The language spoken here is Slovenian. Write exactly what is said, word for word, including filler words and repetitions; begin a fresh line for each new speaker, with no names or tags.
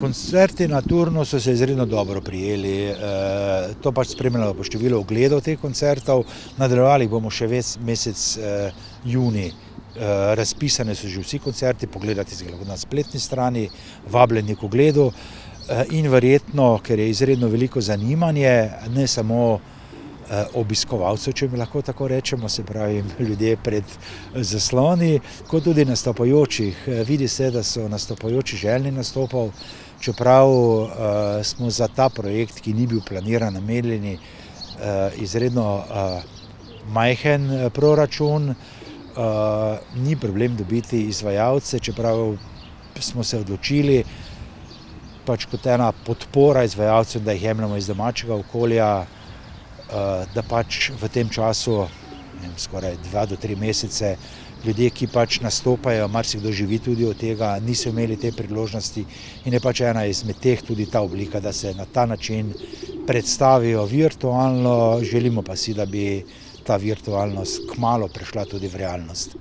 Koncerti na Turnu so se izredno dobro prijeli, to pač spremljamo po številu ogledov teh koncertov, nadaljevali bomo še ves mesec junij, razpisane so že vsi koncerti, pogledati si lahko na spletni strani, vabljeni k ogledu in verjetno, ker je izredno veliko zanimanje, ne samo obiskovalcev, če mi lahko tako rečemo, se pravi ljudje pred zasloni, kot tudi nastopajočih. Vidi se, da so nastopajoči željni nastopov, čeprav smo za ta projekt, ki ni bil planiran, namenjeni izredno majhen proračun, ni problem dobiti izvajalce, čeprav smo se odločili, pač kot ena podpora izvajalcem, da jih jemljemo iz domačega okolja, da pač v tem času, skoraj dva do tri mesece, ljudje, ki pač nastopajo, marsikdo živi tudi od tega, niso imeli te priložnosti in je pač ena izmed teh tudi ta oblika, da se na ta način predstavijo virtualno, želimo pa si, da bi ta virtualnost kmalu prešla tudi v realnost.